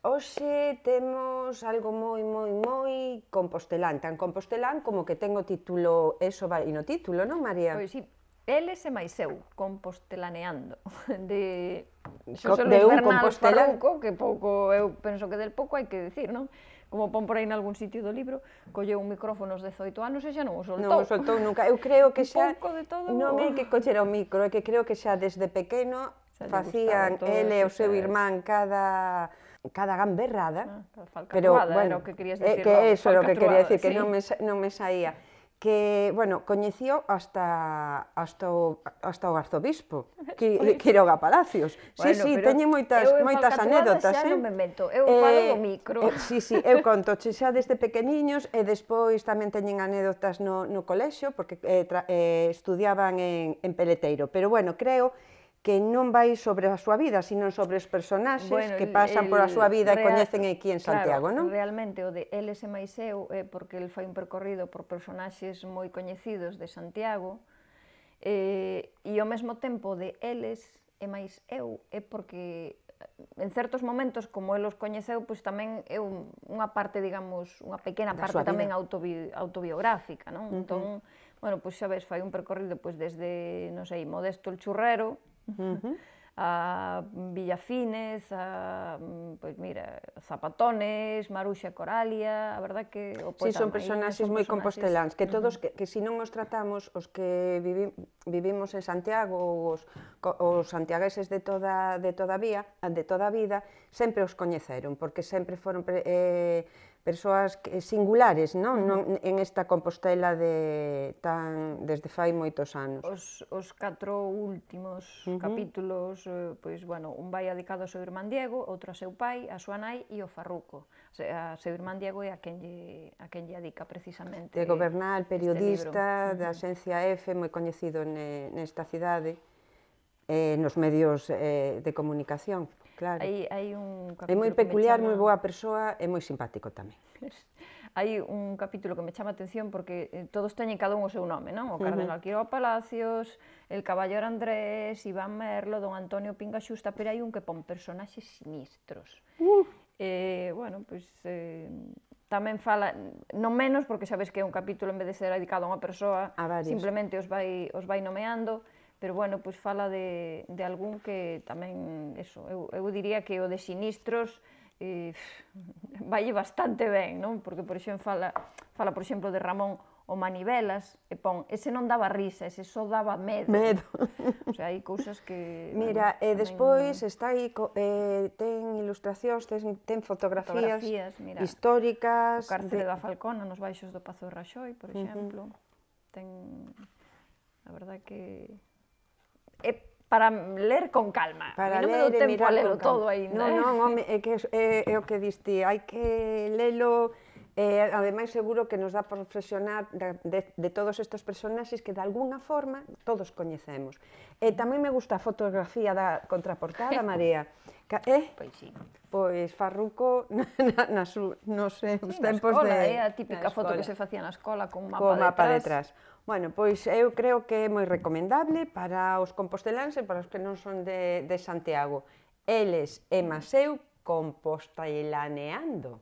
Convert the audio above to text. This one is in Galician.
Hoxe temos algo moi compostelán, tan compostelán como que ten o título, eso vai no título, non, María? Pois si, eles e máis eu, compostelaneando, de Xosé De Luis un Bernal compostelán. Farruco, que pouco, eu penso que del pouco hai que dicir, non? Como pon por aí nalgún sitio do libro, colleu un micrófono aos 18 anos e xa non o soltou. Non o soltou nunca. Eu creo que Un xa pouco de todo. non é que collera o micro, é que creo que xa desde pequeno Xa lle facían gustaba todas ele e o seu esas... irmán cada gamberrada, pero, Falcatruada, era o que querías decir, que non? eso era o que quería decir, que Sí. non me saía. Que, bueno, coñeció hasta o arzobispo, Quiroga Palacios. Bueno, Sí, pero teñen moitas eu en anécdotas, Falcatruada xa non me meto, eu falo do micro. Sí, eu contoche xa desde pequeniños e despois tamén teñen anécdotas no colexio, porque estudiaban en Peleteiro. Pero, bueno, creo que non vai sobre a súa vida, sino sobre os personaxes que pasan pola súa vida e coñecen aquí en Santiago, non? Realmente o de eles e máis eu é porque el fai un percorrido por personaxes moi coñecidos de Santiago e ao mesmo tempo de eles e máis eu é porque en certos momentos, como el os coñeceu, pois tamén é unha parte, digamos, unha pequena parte tamén autobiográfica, non? Entón, bueno, pois xa ves, fai un percorrido pois desde, non sei, Modesto el Churrero, a Villafines, a, pois mira, Zapatones, Maruxa Coralia, a verdad que o poeta son personaxes moi composteláns, que todos, que se non os tratamos, os que vivimos en Santiago, os santiagueses de toda a vida, sempre os coñeceron, porque sempre foron persoas singulares, non? En esta Compostela desde fai moitos anos. Os 4 últimos capítulos, pois, bueno, un vai dedicado ao seu irmán Diego, outro ao seu pai, a súa nai e ao Farruco. O sea, a seu irmán Diego é a quen lle dedica precisamente Diego Bernal, periodista da Axencia F, moi coñecido nesta cidade, nos medios de comunicación, claro. Hai un É moi peculiar, moi boa persoa e moi simpático tamén. Hai un capítulo que me chama a atención porque todos teñen cada un o seu nome, non? O Cardenal Quiroga Palacios, el Caballero Andrés, Iván Merlo, Don Antonio Pinga Xusta, pero hai un que pon personaxes sinistros. Bueno, pois tamén fala, non menos, porque sabes que é un capítulo en vez de ser dedicado a unha persoa, simplemente os vai nomeando, pero bueno, pois fala de algún que tamén, eso, eu diría que o de sinistros valle bastante ben, non? Porque, por exemplo, fala, por exemplo, de Ramón o Manivelas, e pon, ese non daba risa, ese só daba medo. O sea, hai cousas que... Mira, e despois está aí, ten ilustracións, ten fotografías históricas... O cárcere da Falcona, nos baixos do Pazo de Raxoi, por exemplo. Ten, a verdade que... É para ler con calma. Para ler e mirar con calma. Todo aínda. Non, home, é que é o que diste, hai que lelo, ademais seguro que nos dá por reflexionar de todos estes personaxes que de alguna forma todos coñecemos. E tamén me gusta a fotografía da contraportada, María. Pois sí. Pois Farruco nos seus tempos de... É a típica foto que se facía na escola con un mapa detrás. Bueno, pois eu creo que é moi recomendable para os composteláns e para os que non son de Santiago. Eles e máis eu compostelaneando.